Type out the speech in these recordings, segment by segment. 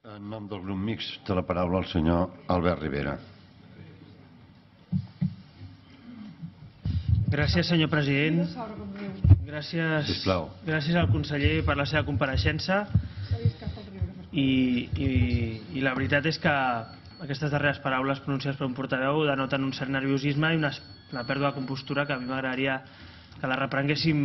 En nom del grup mixt té la paraula el senyor Albert Rivera. Gràcies, senyor president. Gràcies al conseller per la seva compareixença. I la veritat és que aquestes darreres paraules pronunciades per un portaveu denoten un cert nerviosisme i una pèrdua de compostura que a mi m'agradaria que la reprenguéssim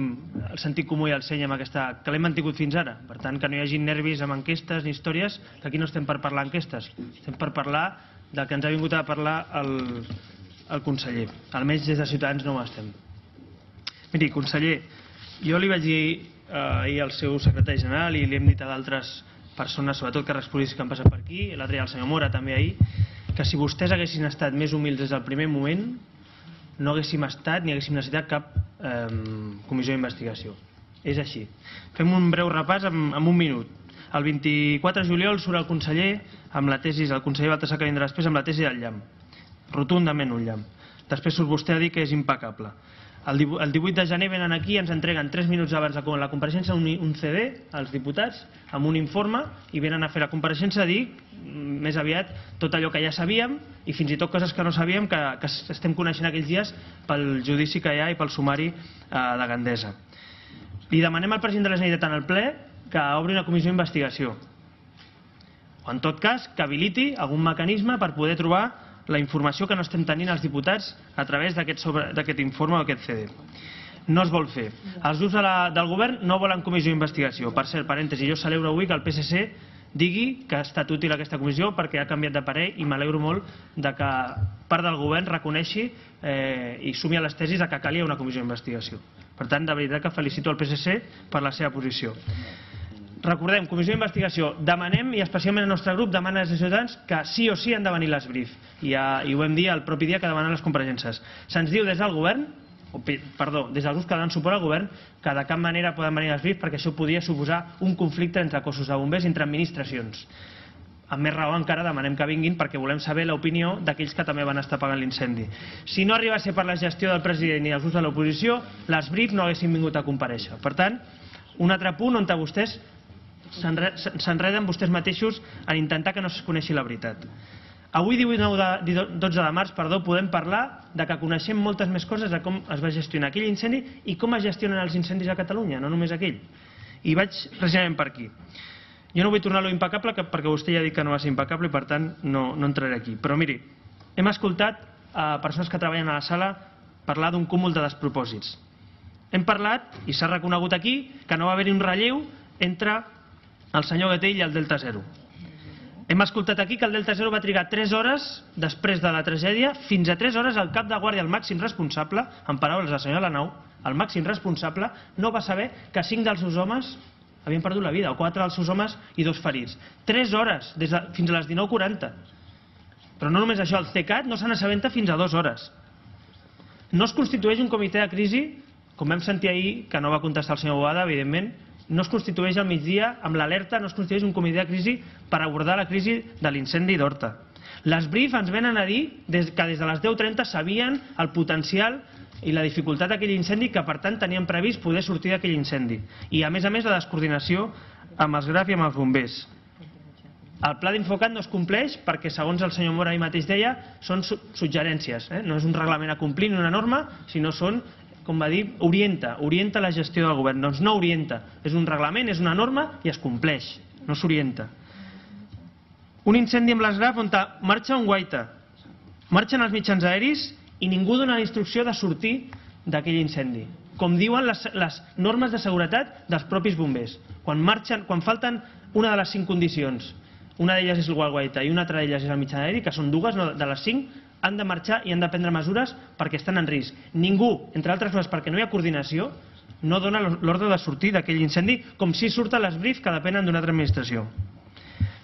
el sentit comú i el seny amb aquesta que l'hem mantingut fins ara. Per tant, que no hi hagi nervis amb enquestes ni històries, que aquí no estem per parlar enquestes, estem per parlar del que ens ha vingut a parlar el conseller. Almenys des de Ciutadans no ho estem. Miri, conseller, jo li vaig dir ahir al seu secretari general i li hem dit a d'altres persones, sobretot càrrecs polítics que han passat per aquí, l'altre dia el senyor Mora també ahir, que si vostès haguessin estat més humils des del primer moment no haguéssim estat ni haguéssim necessitat cap comissió d'investigació. És així. Fem un breu repàs en un minut. El 24 de juliol surt el conseller amb la tesi, el conseller Baltasar que vindrà després, amb la tesi del llamp. Rotundament un llamp. Després surt vostè a dir que és impecable. El 18 de gener venen aquí i ens entreguen 3 minuts abans de la compareixença un CD als diputats amb un informe i venen a fer la compareixença a dir més aviat tot allò que ja sabíem i fins i tot coses que no sabíem que estem coneixent aquells dies pel judici que hi ha i pel sumari de Gandesa. Li demanem al president de la Generalitat en el ple que obri una comissió d'investigació o en tot cas que habiliti algun mecanisme per poder trobar la informació que no estem tenint els diputats a través d'aquest informe o aquest CD. No es vol fer. Els grups del govern no volen comissió d'investigació. Per cert, parèntesi, jo celebro avui que el PSC digui que ha estat útil aquesta comissió perquè ha canviat de parer i m'alegro molt que part del govern reconeixi i sumi a les tesis que calia una comissió d'investigació. Per tant, de veritat que felicito el PSC per la seva posició. Recordem, comissió d'investigació, demanem, i especialment el nostre grup demana des de Ciutadans que sí o sí han de venir les brief, i ho vam dir el propi dia que demanen les compareixences. Se'ns diu des del govern, des dels grups que donen suport al govern, que de cap manera poden venir les brief perquè això podria suposar un conflicte entre cossos de bombers i entre administracions. Amb més raó encara demanem que vinguin perquè volem saber l'opinió d'aquells que també van estar pagant l'incendi. Si no arriba a ser per la gestió del president i dels grups de l'oposició, les brief no haguessin vingut a comparèixer. Per tant, un altre punt on vostès s'enreden vostès mateixos en intentar que no es coneixi la veritat. Avui, 12 de març, podem parlar de que coneixem moltes més coses de com es va gestionar aquell incendi i com es gestionen els incendis a Catalunya, no només aquell. I vaig precisament per aquí. Jo no vull tornar a lo impecable perquè vostè ja ha dit que no va ser impecable i per tant no entraré aquí. Però miri, hem escoltat persones que treballen a la sala parlar d'un cúmul de despropòsits. Hem parlat, i s'ha reconegut aquí, que no va haver-hi un relleu entre el senyor Gatell i el Delta Zero. Hem escoltat aquí que el Delta Zero va trigar 3 hores després de la tragèdia, fins a 3 hores el cap de guàrdia, el màxim responsable, en paraules del senyor Alanau, el màxim responsable, no va saber que 5 dels seus homes havien perdut la vida, o 4 dels seus homes i 2 ferits. 3 hores, fins a les 19:40. Però no només això, el CECAT no se n'assabenta fins a 2 hores. No es constitueix un comitè de crisi, com vam sentir ahir, que no va contestar el senyor Boada, evidentment, no es constitueix al migdia amb l'alerta, no es constitueix un comitè de crisi per abordar la crisi de l'incendi d'Horta. Les brief ens venen a dir que des de les 10:30 sabien el potencial i la dificultat d'aquell incendi, que per tant tenien previst poder sortir d'aquell incendi. I a més la descoordinació amb els GRAF i amb els bombers. El pla d'Infocat no es compleix perquè, segons el senyor Mora ahir mateix deia, són suggerències. No és un reglament a complir ni una norma, sinó són, com va dir, orienta la gestió del govern. Doncs no orienta, és un reglament, és una norma i es compleix, no s'orienta. Un incendi amb les GRAF on marxa un guaita, marxen els mitjans aeris i ningú dona la instrucció de sortir d'aquell incendi, com diuen les normes de seguretat dels propis bombers. Quan falten una de les 5 condicions, una d'elles és el guaita i una altra d'elles és el mitjà aeri, que són 2 de les 5, han de marxar i han de prendre mesures perquè estan en risc. Ningú, entre altres coses perquè no hi ha coordinació, no dona l'ordre de sortir d'aquell incendi, com si surten les brief que depenen d'una altra administració.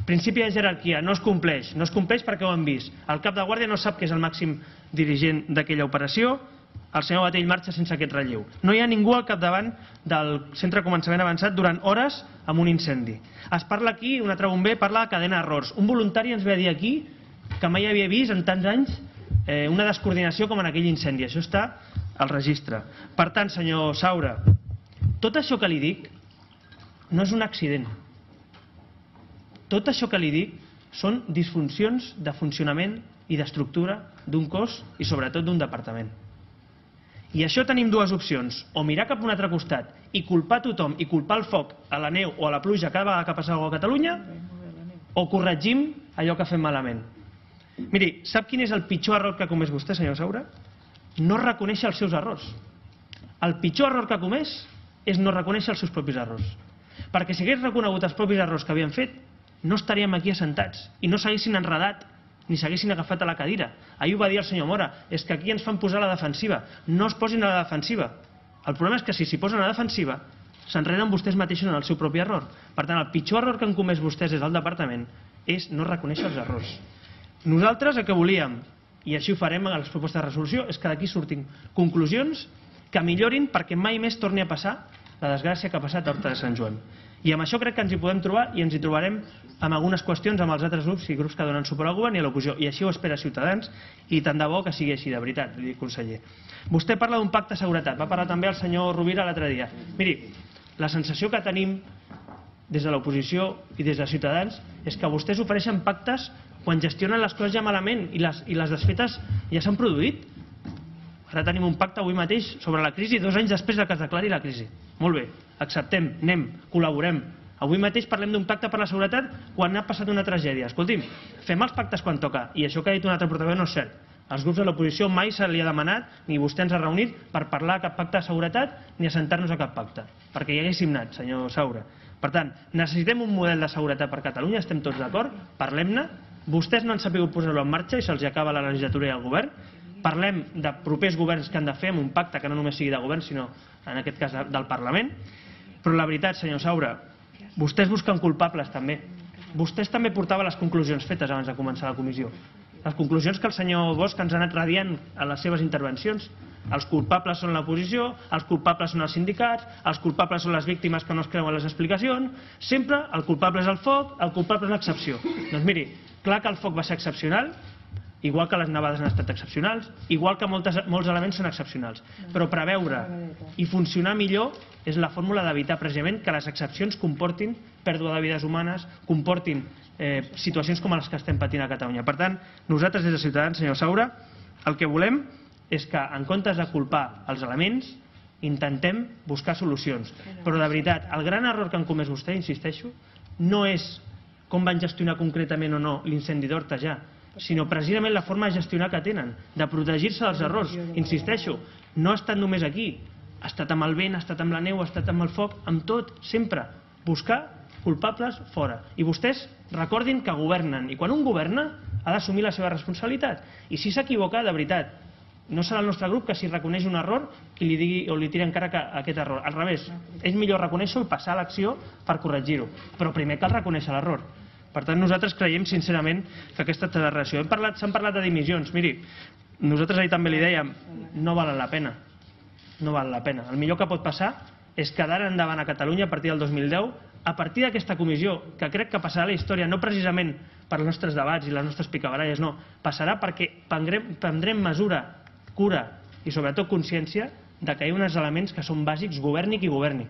Principi de jerarquia, no es compleix. No es compleix perquè ho hem vist. El cap de guàrdia no sap que és el màxim dirigent d'aquella operació, el senyor Gatell marxa sense aquest relleu. No hi ha ningú al capdavant del centre de començament avançat durant hores amb un incendi. Es parla aquí, un altre bomber parla de cadena d'errors. Un voluntari ens ve a dir aquí que mai havia vist en tants anys una descoordinació com en aquell incendi. Això està al registre. Per tant, senyor Saura, tot això que li dic no és un accident. Tot això que li dic són disfuncions de funcionament i d'estructura d'un cos i sobretot d'un departament. I això tenim dues opcions, o mirar cap a un altre costat i culpar tothom i culpar el foc a la neu o a la pluja cada vegada que passa alguna cosa a Catalunya, o corregim allò que fem malament. Miri, sap quin és el pitjor error que ha comès vostè, senyor Saura? No reconèixer els seus errors. El pitjor error que ha comès és no reconèixer els seus propis errors. Perquè si hagués reconegut els propis errors que havien fet, no estaríem aquí assentats i no s'haguessin enredat ni s'haguessin agafat a la cadira. Ahir ho va dir el senyor Mora, és que aquí ens fan posar a la defensiva. No es posin a la defensiva. El problema és que si s'hi posen a la defensiva, s'enreden vostès mateixos en el seu propi error. Per tant, el pitjor error que han comès vostès des del departament és no reconèixer els errors. Nosaltres el que volíem, i així ho farem a les propostes de resolució, és que d'aquí surtin conclusions que millorin perquè mai més torni a passar la desgràcia que ha passat a Horta de Sant Joan. I amb això crec que ens hi podem trobar i ens hi trobarem amb algunes qüestions amb els altres grups i grups que donen suport al govern i a l'oposició. I així ho espera Ciutadans i tant de bo que sigui així, de veritat, li dic, conseller. Vostè parla d'un pacte de seguretat. Va parlar també el senyor Rovira l'altre dia. Miri, la sensació que tenim des de l'oposició i des de Ciutadans és que vostès ofereixen pactes quan gestionen les coses ja malament i les desfetes ja s'han produït. Ara tenim un pacte avui mateix sobre la crisi 2 anys després que es declari la crisi. Molt bé, acceptem, anem, col·laborem. Avui mateix parlem d'un pacte per la seguretat quan ha passat una tragèdia. Escolti'm, fem els pactes quan toca. I això que ha dit un altre portaveu no és cert. Als grups de l'oposició mai se li ha demanat, ni vostè ens ha reunit, per parlar de cap pacte de seguretat ni assentar-nos a cap pacte. Perquè hi haguéssim anat, senyor Saura. Per tant, necessitem un model de seguretat per Catalunya, estem tots d'acord, parlem-ne. Vostès no han sabut posar-lo en marxa i se'ls acaba la legislatura i el govern. Parlem de propers governs que han de fer amb un pacte que no només sigui de govern, sinó en aquest cas del Parlament. Però la veritat, senyor Saura, vostès busquen culpables també. Vostès també portaven les conclusions fetes abans de començar la comissió. Les conclusions que el senyor Bosch ens ha anat radiant a les seves intervencions. Els culpables són l'oposició, els culpables són els sindicats, els culpables són les víctimes que no es creuen les explicacions. Sempre el culpable és el foc, el culpable és l'excepció. Doncs miri, clar que el foc va ser excepcional, igual que les nevades han estat excepcionals, igual que molts elements són excepcionals. Però preveure i funcionar millor és la fórmula d'evitar precisament que les excepcions comportin pèrdua de vides humanes, comportin situacions com les que estem patint a Catalunya. Per tant, nosaltres des de Ciutadans, senyor Saura, el que volem és que en comptes de culpar els elements, intentem buscar solucions. Però de veritat, el gran error que han comès vostè, insisteixo, no és com van gestionar concretament o no l'incendi d'Horta ja, sinó precisament la forma de gestionar que tenen, de protegir-se dels errors. Insisteixo, no ha estat només aquí, ha estat amb el vent, ha estat amb la neu, ha estat amb el foc, amb tot, sempre. Buscar culpables fora. I vostès recordin que governen, i quan un governa ha d'assumir la seva responsabilitat. I si s'equivoca, de veritat, no serà el nostre grup que si reconeix un error qui li digui o li tiri encara aquest error. Al revés, és millor reconèixer-ho i passar a l'acció per corregir-ho. Però primer cal reconèixer l'error. Per tant, nosaltres creiem sincerament que aquesta relació. S'han parlat de dimissions. Miri, nosaltres ahir també li dèiem, no valen la pena. No val la pena. El millor que pot passar és que d'ara endavant a Catalunya, a partir del 2010, a partir d'aquesta comissió, que crec que passarà a la història, no precisament per els nostres debats i les nostres picabaralles, no, passarà perquè prendrem mesura, cura i sobretot consciència de que hi ha uns elements que són bàsics, governi qui governi.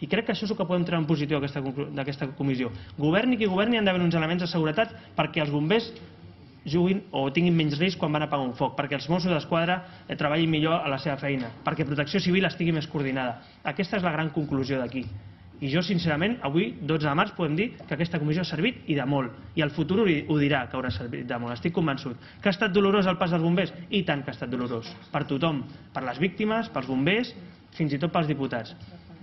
I crec que això és el que podem treure en positiu d'aquesta comissió. Governi qui governi, han d'haver uns elements de seguretat perquè els bombers juguin o tinguin menys risc quan van a apagar un foc, perquè els Mossos d'Esquadra treballin millor a la seva feina, perquè Protecció Civil estigui més coordinada. Aquesta és la gran conclusió d'aquí. I jo, sincerament, avui, 12 de març, podem dir que aquesta comissió ha servit i de molt. I el futur ho dirà que haurà servit de molt. Estic convençut. Que ha estat dolorós el pas dels bombers? I tant que ha estat dolorós. Per tothom. Per les víctimes, pels bombers, fins i tot pels diputats.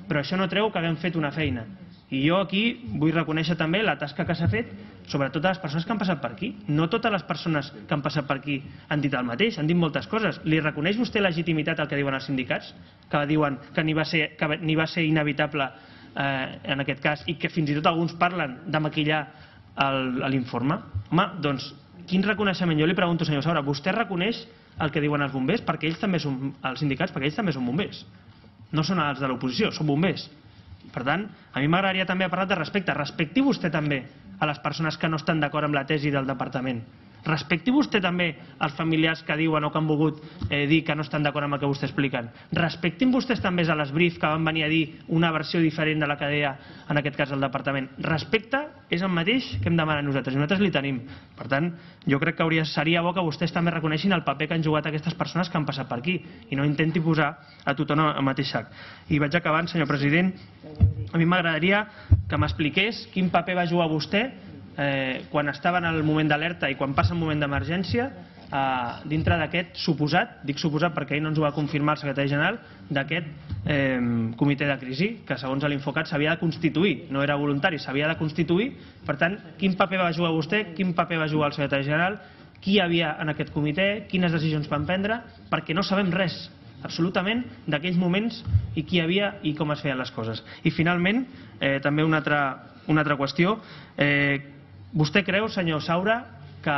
Però això no treu que haguem fet una feina. I jo aquí vull reconèixer també la tasca que s'ha fet, sobretot a les persones que han passat per aquí. No totes les persones que han passat per aquí han dit el mateix, han dit moltes coses. Li reconeix vostè legitimitat al que diuen els sindicats? Que diuen que ni va ser inevitable en aquest cas i que fins i tot alguns parlen de maquillar l'informe? Home, doncs, quin reconeixement? Jo li pregunto, senyor Saura, vostè reconeix el que diuen els bombers? Perquè ells també són, els sindicats, perquè ells també són bombers. No són els de l'oposició, són bombers. Per tant, a mi m'agradaria també parlar de respecte. Respecti vostè també a les persones que no estan d'acord amb la tesi del departament. Respecti vostè també els familiars que diuen o que han volgut dir que no estan d'acord amb el que vostè expliquen. Respectin vostès també a l'Esbrif que van venir a dir una versió diferent de la que deia en aquest cas el departament. Respecte és el mateix que hem demanat nosaltres i nosaltres li tenim. Per tant, jo crec que seria bo que vostès també reconeixin el paper que han jugat aquestes persones que han passat per aquí i no intenti posar a tothom al mateix sac. I vaig acabant, senyor president. A mi m'agradaria que m'expliqués quin paper va jugar vostè quan estava en el moment d'alerta i quan passa un moment d'emergència dintre d'aquest suposat, dic suposat perquè ell no ens ho va confirmar el secretari general, d'aquest comitè de crisi que segons l'Infocat s'havia de constituir, no era voluntari, s'havia de constituir. Per tant, quin paper va jugar vostè, quin paper va jugar el secretari general, qui hi havia en aquest comitè, quines decisions van prendre, perquè no sabem res absolutament d'aquells moments i qui hi havia i com es feien les coses. I finalment, també una altra qüestió. Vostè creu, senyor Saura, que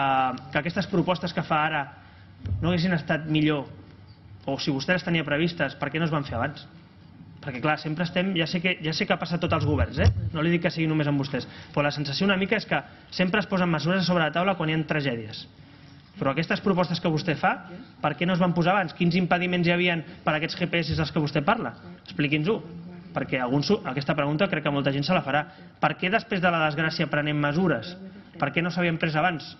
aquestes propostes que fa ara no haguessin estat millor, o si vostè les tenia previstes, per què no es van fer abans? Perquè clar, sempre estem, ja sé que ha passat tots els governs, no li dic que sigui només amb vostès, però la sensació una mica és que sempre es posen mesures sobre la taula quan hi ha tragèdies. Però aquestes propostes que vostè fa, per què no es van posar abans? Quins impediments hi havia per aquests GPS dels que vostè parla? Expliqui'ns-ho, perquè aquesta pregunta crec que molta gent se la farà. Per què després de la desgràcia prenem mesures? Per què no s'havien pres abans?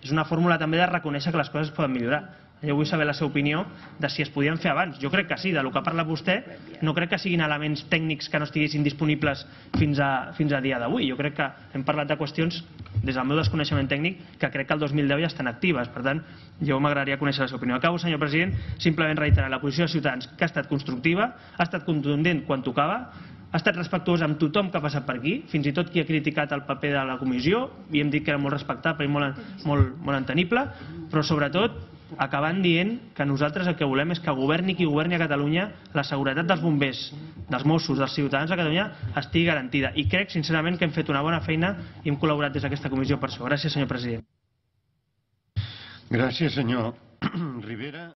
És una fórmula també de reconèixer que les coses es poden millorar. Jo vull saber la seva opinió de si es podien fer abans. Jo crec que sí, del que ha parlat vostè, no crec que siguin elements tècnics que no estiguessin disponibles fins a dia d'avui. Jo crec que hem parlat de qüestions, des del meu desconeixement tècnic, que crec que el 2010 ja estan actives. Per tant, jo m'agradaria conèixer la seva opinió. Acabo, senyor president, simplement reiterar la posició de Ciutadans, que ha estat constructiva, ha estat contundent quan tocava, ha estat respectuós amb tothom que ha passat per aquí, fins i tot qui ha criticat el paper de la comissió, i hem dit que era molt respectable i molt entenible, però sobretot acabant dient que nosaltres el que volem és que governi qui governi a Catalunya, la seguretat dels bombers, dels Mossos, dels ciutadans de Catalunya estigui garantida. I crec sincerament que hem fet una bona feina i hem col·laborat des d'aquesta comissió per això. Gràcies, senyor president. Gràcies, senyor Rivera.